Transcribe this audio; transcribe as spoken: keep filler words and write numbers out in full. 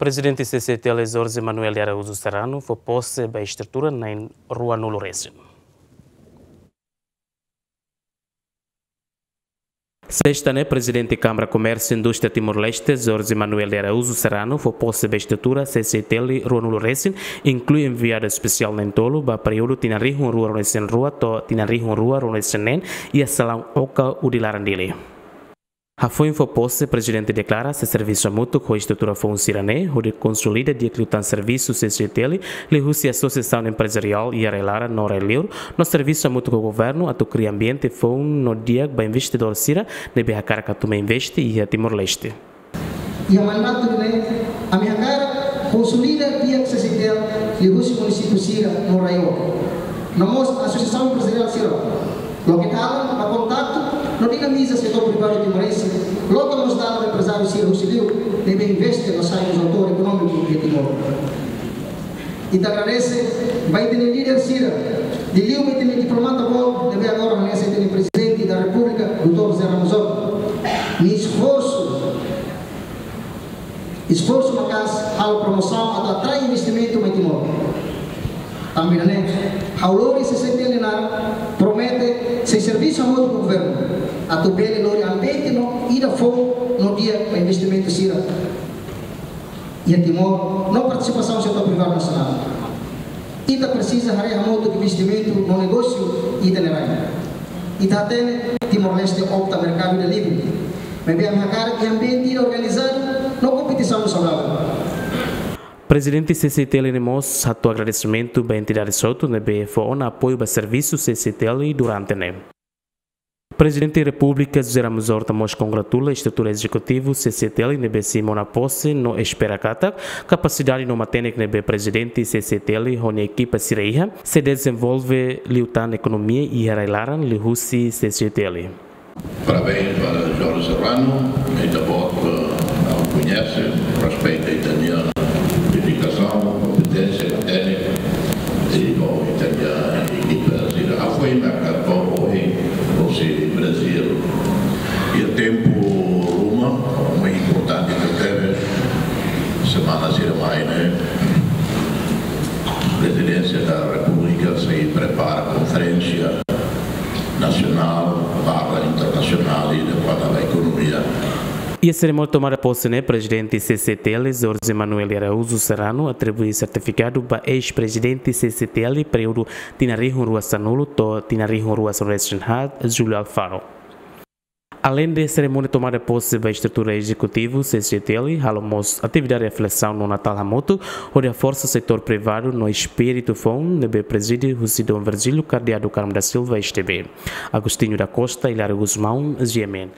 Prezidente C C T L Jorge Manuel de Araújo Serrano fó pose ba estrutura na'in ruanulu resin. Sesta ne'e, Prezidente Kámara Komérsiu Indústria Timor-Leste, Jorge Manuel de Araújo Serrano, fó pose ba estrutura C C T L ruanulu resin, inklui enviadu espesiál na'in tolu ba períodu tinan rihun rua ruanulu resin rua to'o tinan rihun rua ruanulu resin neen, iha salaun Oka Udi Laran Dili. Hafoin fó pose, Prezidente deklara sei servisu hamutuk ho estrutura foun sira-ne'e hodi konsolida di'ak liután servisu C C T L liuhusi asosiasaun emprezariál iha rai-laran no rai-liur, no servisu hamutuk ho governu atu kria ambiente foun no di'ak ba investidór sira ne'ebé hakarak atu mai investe iha Timor-Leste. Iha mandatu ne'e, ami hakarak konsolida di'ak C C T L liuhusi munisípiu sira no rai-oan. No mós asosiasaun emprezariál sira. Loke dalan ba kontaktu no dinamiza setór privadu timorense, loke mós dalan ba emprezáriu sira husi liur ne'ebé investe no sai mós atór ekonómiku iha Timor. Ita agradese ba ita-nia líder sira, liuliu ba ita-nia diplomata boot ne'ebé agora hanesan ita-nia Prezidente da Repúblika, doutór José Ramos Horta, nia esforsu, esforsu maka'as halo promosaun atu atrai investimentu mai Timor. Tanba ne'e, ha'u lori C C T L naran, promete sei servisu hamutuk ho governu atu bele lori ambiente no ida foun no di'ak ba investimentu sira iha Timor no partisipasaun setór privadu nasionál. Ita presiza haree hamutuk investimentu no negósiu iha ita-nia rai. Ita hatene Timor-Leste opta merkadu ida livre. Maibé ami hakarak iha ambiente ida organizadu no kompetisaun saudavel. Prezidente C C T L ne'e mós hato'o agradesimentu ba entidade hotu ne'ebé fó ona apoiu ba servisu C C T L durante ne'e. Prezidente Repúblika José Ramos Horta mós kongratula estrutura ezekutivu C C T L ne'ebé sei mona pose no espera katak kapasidade no matenek ne'ebé Prezidente C C T L ho nia ekipa sira iha sei dezenvolve liután ekonomia iha rai-laran liuhusi C C T L. Parabéns ba Jorge Serrano, ita-boot, eh, ha'u koñese, respeita ita-nia dedikasaun, kompeténsia, téknika, i ho ita-nia ekipa sira. Ha'u foin merkadu ohin, husi Brazil. Iha tempu ruma, mak importante tebes, semana sira mai ne'e, Prezidénsia da Repúblika sei prepara konferénsia nasionál barra internasionál i depois da ekonomia. Iha serimónia tomada pose ne'e, Prezidente C C T L, Jorge Manuel de Araújo Serrano, atribui sertifikadu ba eis-prezidente C C T L, períodu tinan rihun rua sanulu to'o tinan rihun rua sanulu-resin-haat, Júlio Alfaro. Aleinde serimónia tomada pose ba estrutura ezekutivu C C T L, halo mós atividade reflesaun no Natál hamutuk, hodi haforsa setór privadu no espíritu foun ne'ebé prezide husi Dom Virgílio Cardeal do Carmo da Silva, S T B. Agostinho da Costa, Hilário Gusmão, G M N.